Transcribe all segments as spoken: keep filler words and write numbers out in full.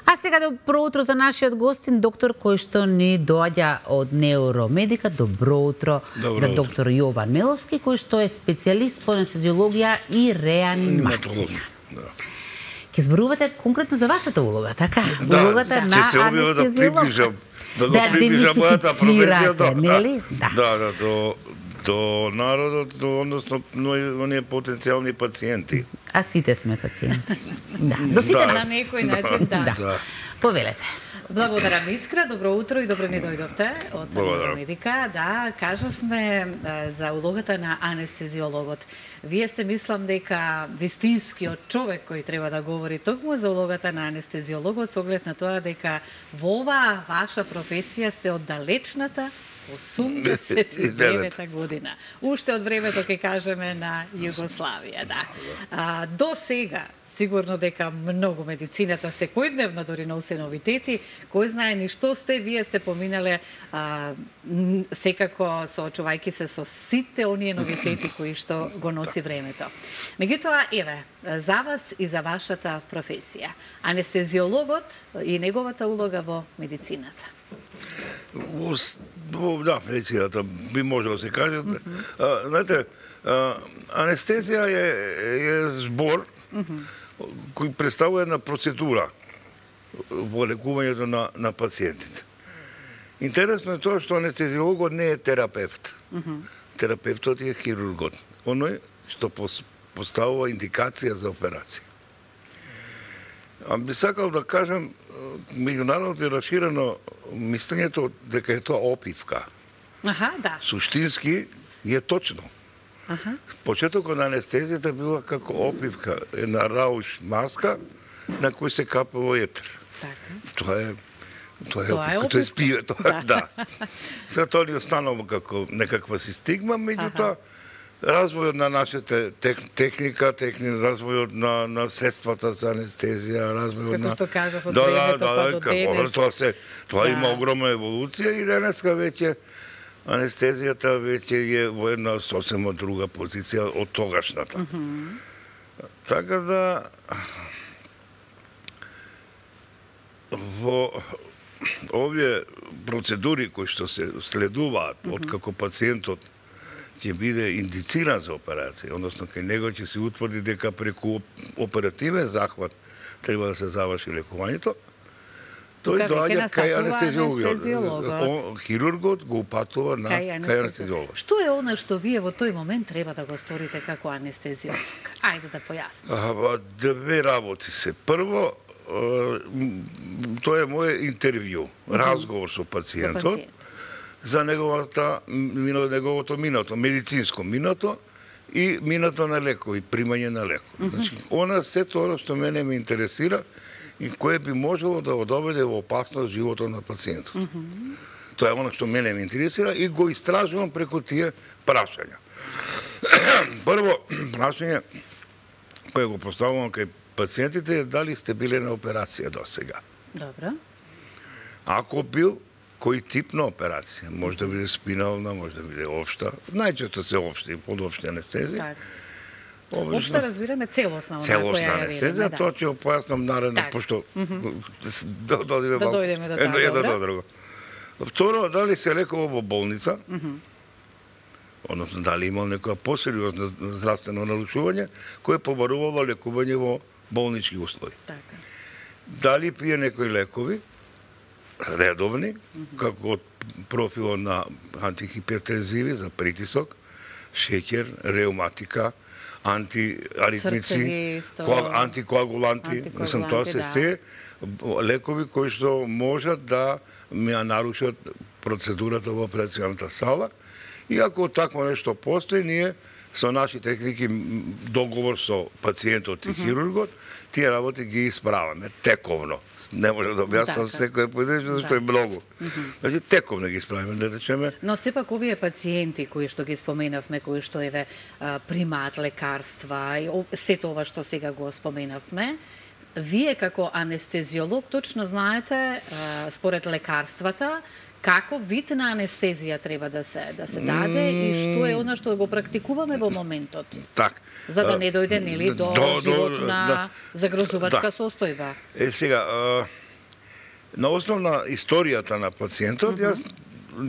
А сега добро утро за нашиот гостин, доктор кој што ни доаѓа од Неуромедика. Добро утро Добро за утро. доктор Јован Меловски, кој што е специјалист по анестезиологија и реанимација. Да. Ке зборувате конкретно за вашата улога, така? Да, улогата ќе на се објава да анестезиолог. приближам, да го Да приближам мојата професија, да, нели? да, да, да, до, до народот, до, односно, оние потенцијални пациенти. А сите сме пациенти. Да, до сите Да. нас. На некој начин, да. Да. Да. Повелете. Благодарам Искра, добро утро и добро ни дојдовте од Благодарам. Медика. Да, кажавме е, за улогата на анестезиологот. Вие сте, мислам, дека вистинскиот човек кој треба да говори токму за улогата на анестезиологот, со оглед на тоа дека во оваа ваша професија сте од далечната осумдесет и девета година. Уште од времето, ке кажеме, на Југославија, да. А, до сега, сигурно дека многу медицината секојдневно дори носи новитети, кој знае ни што сте, вие сте поминале а, н- секако соочувајќи се со сите оние новитети кои што го носи времето. Меѓутоа, еве, за вас и за вашата професија, анестезиологот и неговата улога во медицината. Ус- во- Да, медицината би можело да се каже. А, знаете, а, анестезија е, е збор кој представува една процедура во лекувањето на, на пациентите. Интересно е тоа што анестезиологот не е терапевт. Терапевтот е хирургот. Оној што пос- поставува индикација за операција. А би сакал да кажем, меѓународно е расширено мислењето дека е тоа опивка. Аха, да. Суштински е точно. Аха. Почетокот на анестезијата била како опивка, една рауш маска на кој се капало етер. Така. Тоа е тоа е Тоа е опивка, тоа е опивка. спие, тоа Да. да. Сега тоа ни останало како некаква си стигма, меѓутоа развојот на нашата тек, техника, техни, развојот на, на средствата за анестезија, развојот Како на... што кажав, од да, времето да, па да, до како, денес. Тоа, се, тоа Да. има огромна еволуција и денеска веќе анестезијата веќе е во една сосема друга позиција од тогашната. Така да во овие процедури кои што се следуваат од како пациентот ќе биде индициран за операција, односно кај него ќе се утврди дека преку оперативен захват треба да се заврши лекувањето, тој Тука веќе доаѓа кај настапува анестезиологот. анестезиологот. О, Хирургот го упатува на Кај кај анестезиологот. Што е она што вие во тој момент треба да го сторите како анестезиолог? Ајде да појасни. А, ба, Две работи се. Прво, е, м, тоа е моје интервју, разговор со пациентот за неговата мино, неговото минато, медицинско минато и минато на лекови, примање на лекови. Значи, она се тоа што мене ме интересира и кое би можело да го доведе во опасност животот на пациентот. Тоа е она што мене ме интересира и го истражувам преку тие прашања. Прво прашање кое го поставувам кај пациентите е дали сте биле на операција до сега. Добро. Ако бил, кој тип на операција? Може да биде спинална, може да биде општа. Најчесто се општи, подопшти анестезија. Така. Обично Општо разбираме целосна она целосна која ја анестезија, видиме, да. тоа ќе го појаснам наредно, Така. пошто да додиме Да малку дојдеме до едно, тоа, едно добро. до друго. Второ, дали се лекува во болница, односно дали имал некоја посериозно здравствено нарушување, кое побарувало лекување во болнички услови. Така. Дали пие некои лекови, редовни, како од профилот на антихипертензиви за притисок, шеќер, реуматика, антиаритмици, Срцеви, исто. коа- антикоагуланти, мислам, тоа се Антикоагуланти, да. се лекови кои што можат да ми ја нарушат процедурата во операционата сала. И ако такво нешто постои, ние со наши техники, м, договор со пациентот и хирургот, тие работи ги исправаме тековно. Не може да објаснам Така. секој поединечно, зашто е многу. Значи тековно ги исправиме, да речеме. Но сепак овие пациенти кои што ги споменавме, кои што еве а, примаат лекарства и о- сето ова што сега го споменавме, вие како анестезиолог точно знаете а, според лекарствата како вид на анестезија треба да се да се даде и што е она што го практикуваме во моментот. Так. За да не дојде нели до, До- до- животна да. загрозувачка Да. состојба. Е, сега, а, На основна историјата на пациентот, јас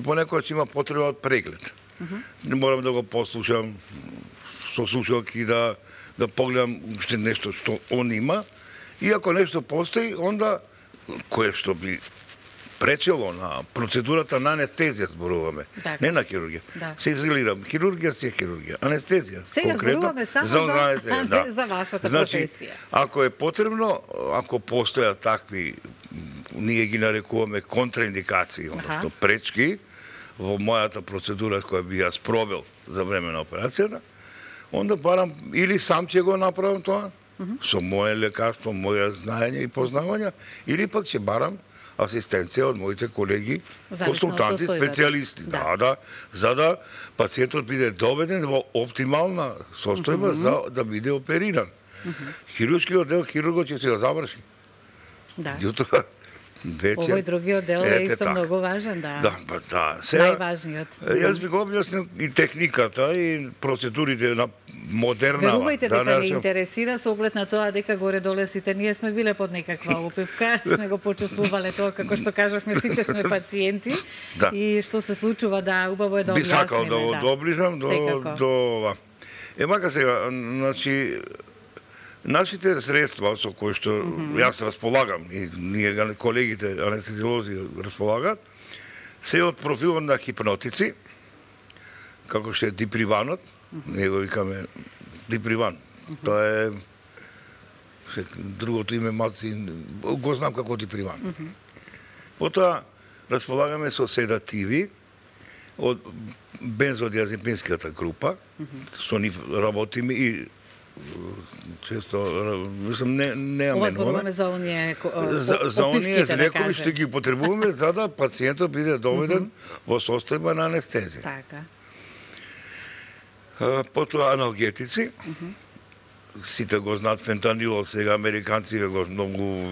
понекогаш има потреба од преглед. Не морам да го послушам со слушалки, да да погледам уште нешто што он има, и ако нешто постои, онда кое што би пречело на процедурата на анестезија зборуваме, Так. не на хирургија. Да. Се изолирам, хирургија си е хирургија, анестезија Сега зборуваме само за, за- анестезија, да. за вашата Значи, професија. ако е потребно, ако постојат такви, ние ги нарекуваме контраиндикации, односно пречки, во мојата процедура која би ја спробил за време на операцијата, онда барам или сам ќе го направам тоа, со моје лекарство, моје знаење и познавања, или пак ќе барам асистенција од моите колеги, Зависно од консултанти, состојбата. специјалисти, Да. да, да, за да пациентот биде доведен во оптимална состојба за да биде опериран. Хируршкиот дел хирургот ќе се го заврши. Да. Јутоа вече Овој другиот дел е ете исто така. многу важен, да. Да, па да. Сега Најважниот. јас би го објаснил и техниката и процедурите на модерна. Верувајте дека да, не интересира со оглед на тоа дека горе-доле сите ние сме биле под некаква опивка, сме го почувствувале тоа, како што кажавме, сите сме пациенти. Да. И што се случува, да, убаво е да би објасниме. сакал да го доближам до Секако. до ова. Е мака сега, значи нашите средства со кои што јас располагам и ние колегите анестезиолози располагаат, се од профилот на хипнотици, како што е диприванот, ние го викаме диприван. Тоа е другото име маци, го знам како диприван. Потоа располагаме со седативи од бензодиазепинската група, со нив работиме и често, мислам, не, не Ова аменуваме. зборуваме за оние ко- За, за оние опивките, да лекови што кажем. ги потребуваме за да пациентот биде доведен во состојба на анестезија. Така. А, Потоа аналгетици, сите го знаат фентанилот, сега американци го многу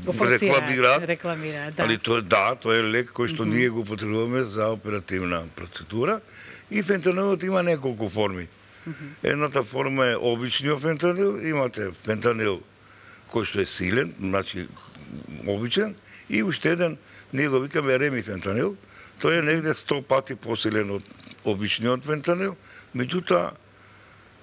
Го форсираат, рекламираат. рекламираат, да. Али тој да, тој е лек кој што ние го потребуваме за оперативна процедура и фентанилот има неколку форми. Едната форма е обичниот фентанил, имате фентанил кој што е силен, значи обичен, и уште еден, ние го викаме ремифентанил, тој е негде сто пати посилен од обичниот фентанил, меѓутоа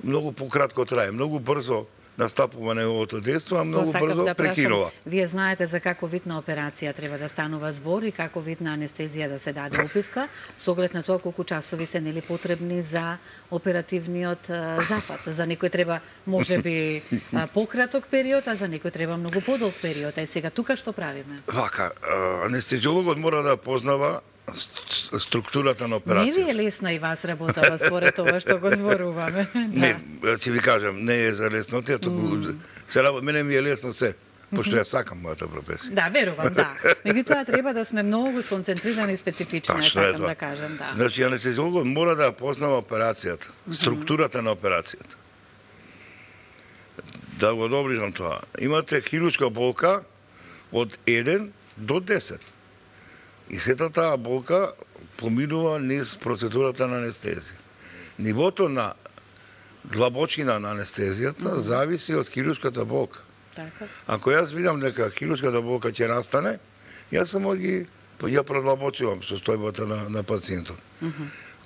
многу пократко трае, многу брзо настапува неговото дејство, а многу Тоа сакав брзо да прашам. прекинува. Вие знаете за каков вид на операција треба да станува збор и каков вид на анестезија да се даде опивка, со оглед на тоа колку часови се нели потребни за оперативниот а, зафат. За некој треба можеби а, пократок период, а за некој треба многу подолг период. А сега тука што правиме? Вака, а, анестезиологот мора да познава ст- структурата на Не ви операцијата. е лесна и вас работава според тоа што го зборуваме. Не, ќе ви кажам, не е за леснотија, туку се работи, мене ми е лесно се, пошто ја сакам мојата професија. Да, верувам, да. Меѓутоа треба да сме многу сконцентрирани и специфични, Тачно е сакам тоа. да кажам, да. Значи, анестезиологот мора да ја познава операцијата, структурата на операцијата. Да го доближам тоа. Имате хируршка болка од еден до десет. И сета таа болка поминува низ процедурата на анестезија. Нивото на длабочина на анестезијата зависи од хируршката болка. Така. Ако јас видам дека хируршката болка ќе настане, јас само ги ја продлабочувам состојбата на, на пациентот.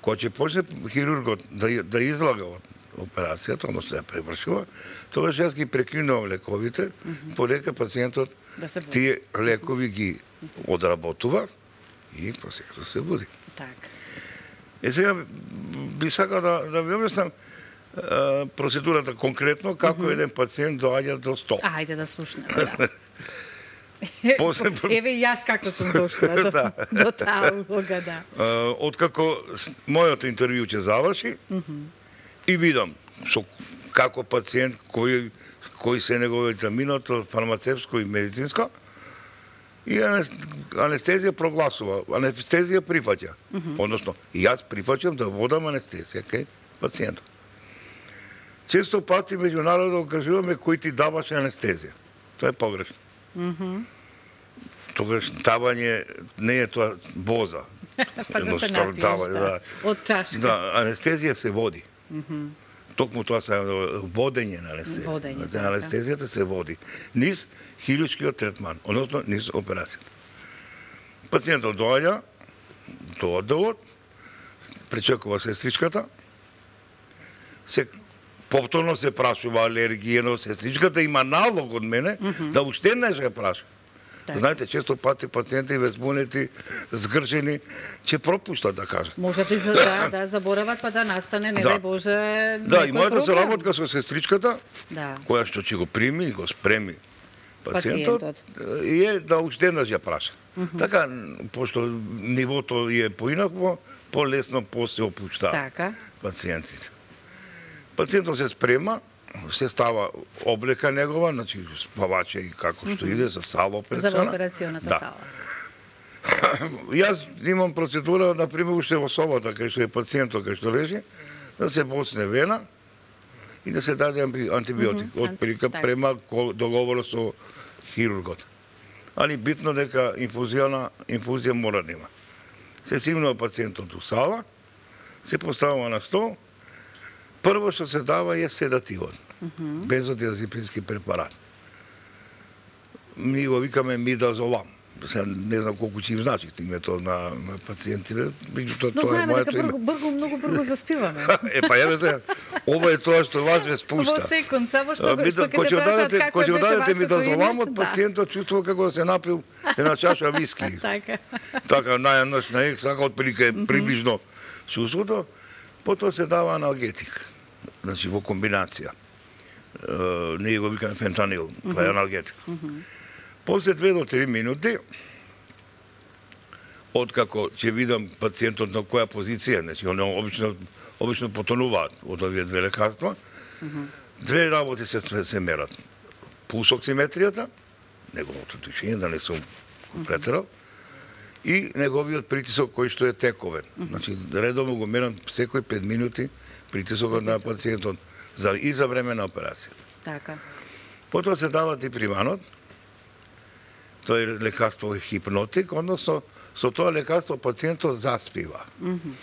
Кога ќе почне хирургот да, да излага од операцијата, односно ја превршува, тогаш јас ги прекинувам лековите, полека пациентот Да се буди. тие лекови ги одработува и пациентот се буди. Така. Е сега би сакал да, да ви објаснам е, процедурата конкретно, како еден пациент доаѓа до стол. Ајде да слушнеме, да. После- Еве и јас како сум дошла до, Да. до таа улога, да. Uh, откако с- мојото интервју ќе заврши и видам со како пациент кој кои се неговите миното фармацевско и медицинско и анес- анестезија прогласува, анестезија прифаќа. Односно, и јас прифаќам да водам анестезија кај пациентот. Често пати меѓу народот кажуваме кој ти даваше анестезија. Тоа е погрешно. Тогаш давање не е тоа боза. Па да се Едноставно напиеш, давање, да. Од чашка. Да, анестезија се води. Токму тоа се водење на анестезија. Водење, Значи, така. анестезијата се води низ хируршкиот третман, односно низ операцијата. Пациентот доаѓа до одделот, пречекува сестричката, се повторно се прашува алергијено, сестричката има налог од мене mm -hmm. да уште не се праша. Так. Знаете, често пати пациенти везбунети, згржени, ќе пропуштат да кажат. Можете за, да, да заборават па да настане, не да. дај Боже, да, и мојата соработка со сестричката, да. која што ќе го прими и го спреми пациентот, пациентот. е да уште еднаш ја праша. Mm -hmm. Така, пошто нивото е поинакво, полесно после опуштава така. пациентите. Пациентот се спрема, се става облека негова, значи спаваче и како што иде за сала операционна. За операционата да. сала. Јас имам процедура, например, уште во собата, кај што е пациентот, кај што лежи, да се босне вена и да се даде антибиотик, mm -hmm. од прика према договор со хирургот. Али битно дека инфузијна, инфузија мора да има. Се симнува пациентот у сала, се поставува на стол, прво што се дава е седативот, mm -hmm. бензодиазепински препарат. Ми го викаме мидазолам. Сега не знам колку ќе им значи името на, на пациентите, меѓутоа но тоа е моето име. Но знаеме дека бргу, многу бргу заспиваме. Е, па ја се, ова е тоа што вас ме спушта. Во секунд, само што, Ми, што ќе те прашат како ќе дадете мидазоламот, да. пациентот чувствува како се напил една чаша виски. така. Така, најаноќ, најек, сака отприлика е приближно чувството. Потоа се дава аналгетик, значи во комбинација. Uh, ние го викаме фентанил, тоа е аналгетик. Mm -hmm. После две до три минути, откако ќе видам пациентот на која позиција, значи, они обично, обично потонуваат од овие две лекарства, mm -hmm. две работи се, се мерат. Пулсоксиметријата, неговото дишење, да не сум го претерал, и неговиот притисок кој што е тековен. Mm -hmm. Значи, редовно го мерам секој пет минути притисокот на пациентот за, и за време на операцијата. Така. Потоа се дава диприванот, тој лекарство е хипнотик, односно со тоа лекарство пациентот заспива. Mm -hmm.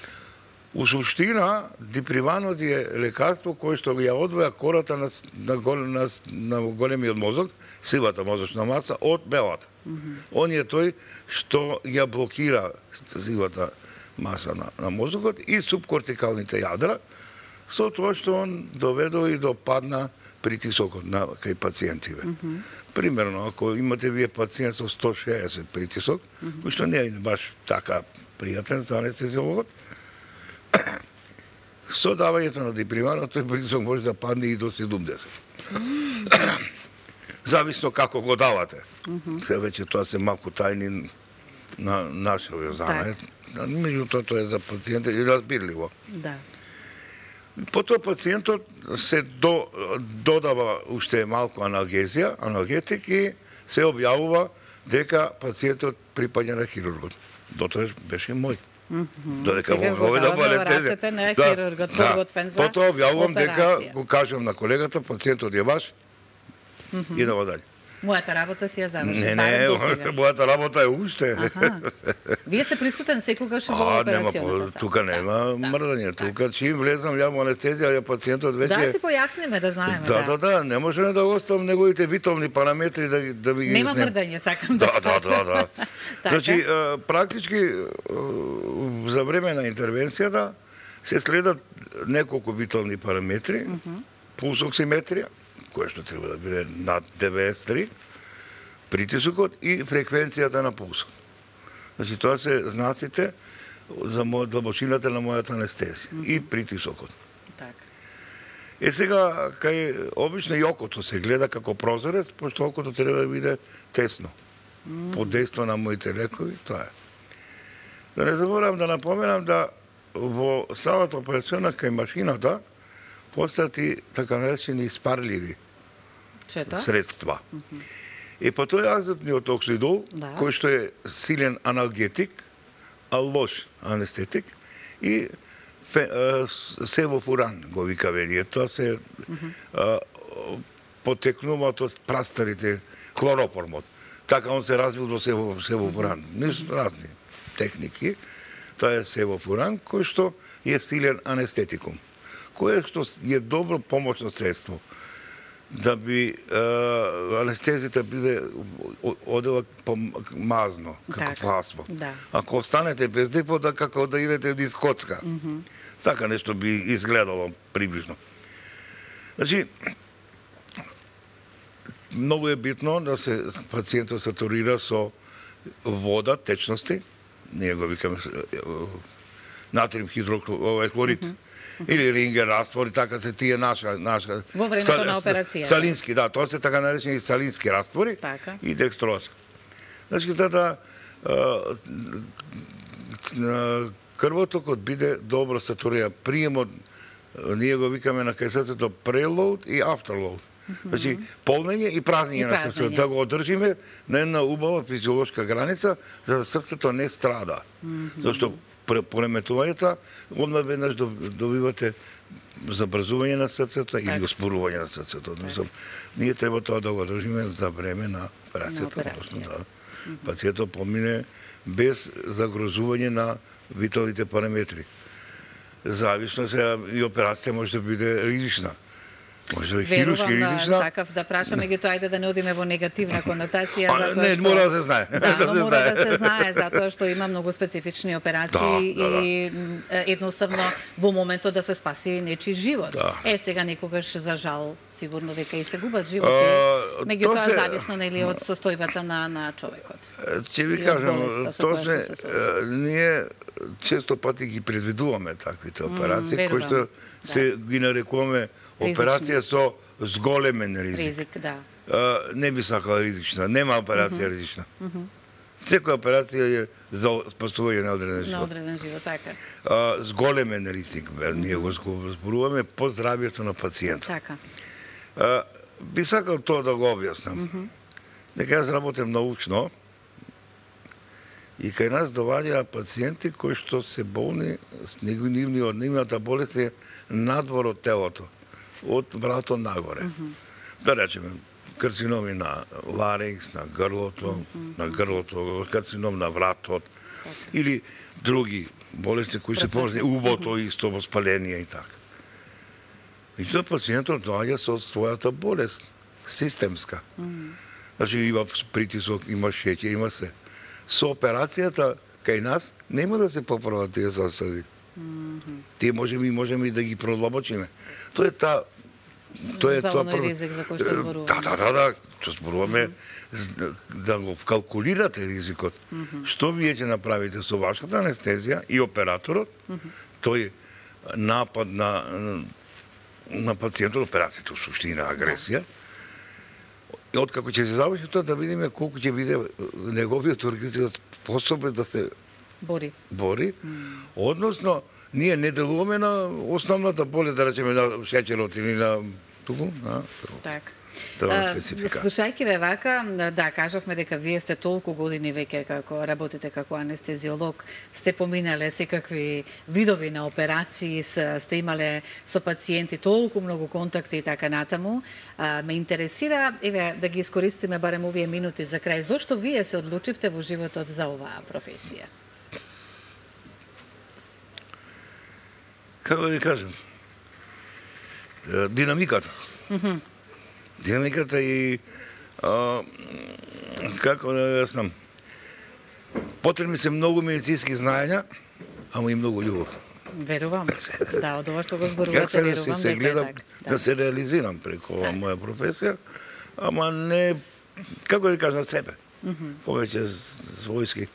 У суштина, диприванот е лекарство кое што ја одвоја кората на, на, на, на големиот мозок, сивата мозочна маса, од белата. Mm -hmm. Он е тој што ја блокира сивата маса на, на мозокот и субкортикалните јадра, со тоа што он доведува и до падна притисокот на кај пациентиве. Mm -hmm. Примерно, ако имате вие пациент со сто шеесет притисок, mm -hmm. кој што не е баш така пријатен за анестезиологот, со давањето на диприванот, тој притисок може да падне и до седумдесет. Mm -hmm. Зависно како го давате. Mm -hmm. Се веќе тоа се малку тајни на нашиот знание. Меѓутоа тоа е за пациентите и разбирливо. Да. Потоа пациентот се до, додава уште малку аналгезија, аналгетик и се објавува дека пациентот припаѓа на хирургот. Дотоа беше мој. Mm -hmm. Додека во да болете. На хирургот, подготвен за потоа објавувам дека го кажам на колегата, пациентот е ваш. Mm -hmm. Идемо дале. Мојата работа си ја заврши. Не, не, мојата работа е уште. Вие сте присутен секогаш во А, операцијата. тука нема мрдање, тука чим влезам ја во анестезија, ја пациентот веќе... Да, си појасниме, да знаеме. Да, да, да, не можеме да оставам неговите витални параметри да, да ви ги Нема изнем. мрдање, сакам да Да, да, да, да. Значи, практички, за време на интервенцијата, се следат неколку витални параметри, пулсоксиметрија, која што треба да биде над деветдесет и три, притисокот и фреквенцијата на пулсот. Значи, тоа се знаците за моја длабочината на мојата анестезија mm -hmm. и притисокот. Так. Е сега, кај обично и окото се гледа како прозорец, пошто окото треба да биде тесно. Mm -hmm. Под дејство на моите лекови, тоа е. Да не заборавам да напоменам да во салата операционна кај машината постати така наречени испарливи Чето? средства. Mm -hmm. И по тој азотниот оксидол, да. кој што е силен аналгетик, а лош анестетик, и фе, а, севофуран го викаме ние. Тоа се mm -hmm. а, потекнуваат од прастарите хлоропормот. Така он се развил до сево, севофуран. Mm -hmm. Ниш разни техники. Тоа е севофуран, кој што е силен анестетикум, кој што е добро помошно средство да би uh, анестезията биде одела мазно, како фласно. Да. Ако останете без депо, да како да идете низ коцка. Mm -hmm. Така нешто би изгледало приближно. Значи, многу е битно да се пациентот сатурира со вода, течности, ние го викаме натриум хидрохлорид, mm -hmm. или ринген раствори, така се тие наша наша во времето сал, на операција. Салински, да, тоа се така наречени салински раствори така. И декстроза. Значи за да крвотокот биде добро сатуриран, приемот ние го викаме на кај срцето preload и afterload. Mm -hmm. Значи полнење и празнење на срцето, да го одржиме на една убава физиолошка граница за да срцето не страда. Mm -hmm. Зашто пореметувањата, одма веднаш добивате забрзување на срцето или успорување на срцето. Так. Ние треба тоа да го одржиме за време на операцијата, односно да пациентот помине без загрозување на виталните параметри. Зависно се и операција може да биде ризична. Може да е хируршки ризична. Да, сакав да прашам, меѓутоа ајде да не одиме во негативна конотација. А, не, што... мора да се знае. Да, да, но се мора знае. да се знае, затоа што има многу специфични операции да, да, и да. едноставно во моментот да се спаси нечи живот. Да. Е, сега некогаш, за жал, сигурно дека и се губат животи, меѓутоа се... зависно нели од состојбата на, на човекот. Ќе ви кажам, тоа се, ние често пати ги предвидуваме таквите операции, mm, кои што се да. ги нарекуваме операција со зголемен ризик. Ризик, да. А, не би сакала ризична, нема операција mm -hmm. ризична. Mm -hmm. Секоја операција е за спасување на одреден живот. На одреден живот, така. А, зголемен ризик, ние го зборуваме по здравието на пациентот. Така. А, би сакал тоа да го објаснам. Mm -hmm. Дека јас работам научно и кај нас доваѓаат пациенти кои што се болни с нивни од нивната болест е надвор од телото, од вратот нагоре. Mm -hmm. Да речеме, карциноми на ларингс, на грлото, mm -hmm. на грлото, карцином на вратот, okay. или други болести кои се познати, убото mm -hmm. исто, воспаление и така. И тоа пациентот доаѓа со својата болест, системска. Mm -hmm. Значи има притисок, има шеќер, има се. Со операцијата кај нас нема да се поправат тие состојби. Mm -hmm. Тие можеме и можеме да ги продлабочиме. Тоа е та тоа е тоа прво ризик за кој што зборуваме. Да, да, да, да, што зборуваме mm -hmm. да го калкулирате ризикот. Mm -hmm. Што вие ќе направите со вашата анестезија и операторот? Mm -hmm. Тој напад на на пациентот, операцијата во суштина агресија. И откако ќе се заврши тоа, да видиме колку ќе биде неговиот организм способен да се бори. Бори. Mm. Односно, ние не делуваме на основната болест, да речеме на шеќерот или на туку, на така. Тоа е специфика. Слушајќи ве вака, да, кажавме дека вие сте толку години веќе како работите како анестезиолог, сте поминале секакви видови на операции, сте имале со пациенти толку многу контакти и така натаму. А, ме интересира, еве, да ги искористиме барем овие минути за крај, зошто вие се одлучивте во животот за оваа професија? Како да ви кажам? Динамиката. Mm -hmm. Динамиката и а, како да ја знам, потребни се многу медицински знаења, ама и многу љубов. Верувам. Да, од ова што го зборувате, верувам. Јас се гледам да. да се реализирам преку оваа моја професија, ама не, како да ви кажам, себе. Mm -hmm. Повеќе својски.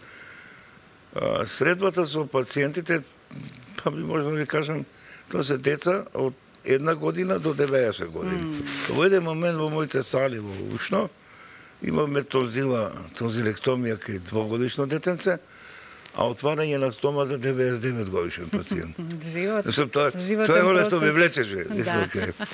Средбата со пациентите, па би можам да ви кажам, тоа се деца од една година до деветдесет години. Mm. Во еден момент во моите сали во Ушно имаме тонзила, тонзилектомија кај двогодишно детенце, а отварање на стома за деветдесет и девет годишен пациент. Живот. Тоа, тоа е оно што ме влечеше. Да.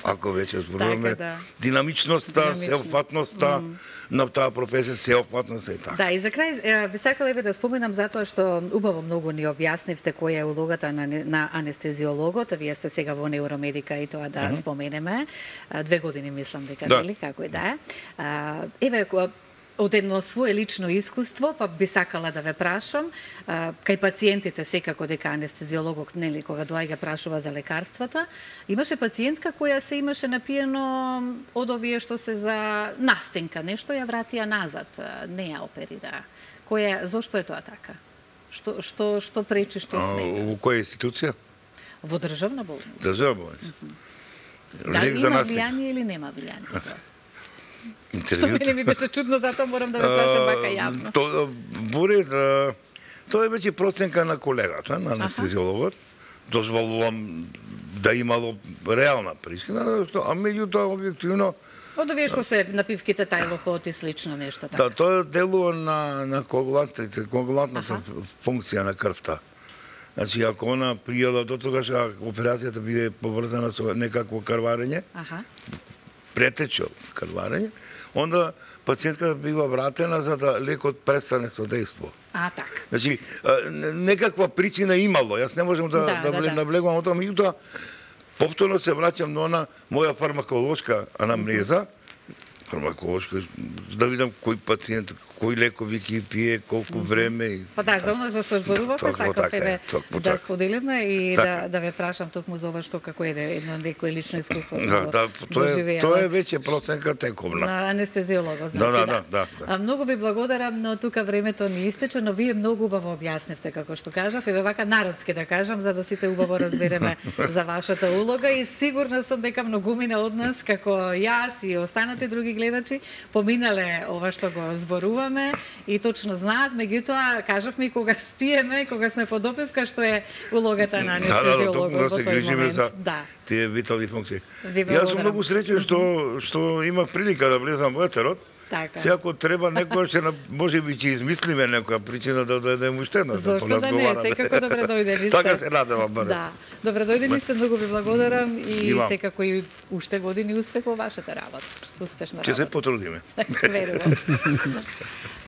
Ако веќе зборуваме да. Динамичноста, сеопфатноста, mm. на таа професија, сеопфатноста и така. Да, и за крај би сакала еве да споменам затоа што убаво многу ни објаснивте која е улогата на, на анестезиологот, вие сте сега во неуромедика и тоа да mm -hmm. споменеме. Две години мислам дека, да. нели, како и да е. Еве, од едно свое лично искуство, па би сакала да ве прашам, а, кај пациентите секако дека анестезиологот, нели, кога доаѓа прашува за лекарствата, имаше пациентка која се имаше напиено од овие што се за настенка, нешто ја вратија назад, не ја оперира. Која, зошто е тоа така? Што што што пречи, што смета? Во која институција? Во државна болница. Државна болница. Дали има влијание или нема влијание? Интервјуто. Што мене ми беше чудно, затоа морам да ве прашам вака јавно. Тоа буре да тоа е веќе проценка на колегата, на анестезиологот. Дозволувам да имало реална причина, а меѓутоа објективно Од овие што се напивките тајлохот и слично нешто така. Да, тоа делува на на коагулантите, коагулантната функција на крвта. Значи, ако она пријела до тогаш операцијата биде поврзана со некакво крварење, Аха. претечо крварење, онда пациентката бива вратена за да лекот престане со дејство. А, така. Значи, некаква причина имало. Јас не можам да Да, да, да, да, да. навлегувам о тоа, меѓутоа повторно се враќам на она моја фармаколошка анамнеза, фармаколошка, да видам кој пациент, кои лекови ќе пие, колку време и Па да, за она што се зборувавме, Токму сакав така е, еве токму да така. споделиме и Така. да да ве прашам токму за ова што како е едно некое лично искуство. Да, да, тоа е тоа е веќе проценка тековна. на анестезиолога, значи Да, да, да, да, да. А, многу ви благодарам, но тука времето ни истече, но вие многу убаво објасневте како што кажав, еве вака народски да кажам, за да сите убаво разбереме за вашата улога и сигурна сум дека многумина од нас како јас и останати други гледачи поминале ова што го зборуваме и точно знаат, меѓутоа кажавме и кога спиеме, кога сме под опивка, што е улогата на Да, да, да, анестезиологот токму да во се тој грижиме момент. за Да. тие витални функции. Ви Јас благодарам. сум многу среќен што што има прилика да влезам во етерот. Така. Се ако треба некоја ќе на може би ќе измислиме некоја причина да дојдеме уште еднаш да Зошто да не, поразговараме. секако добре дојдени сте. Така се надевам барем. Да. Добре дојдени сте, многу ви благодарам и Имам. секако и уште години успех во вашата работа. Успешна Ќе се работа. потрудиме. Верувам.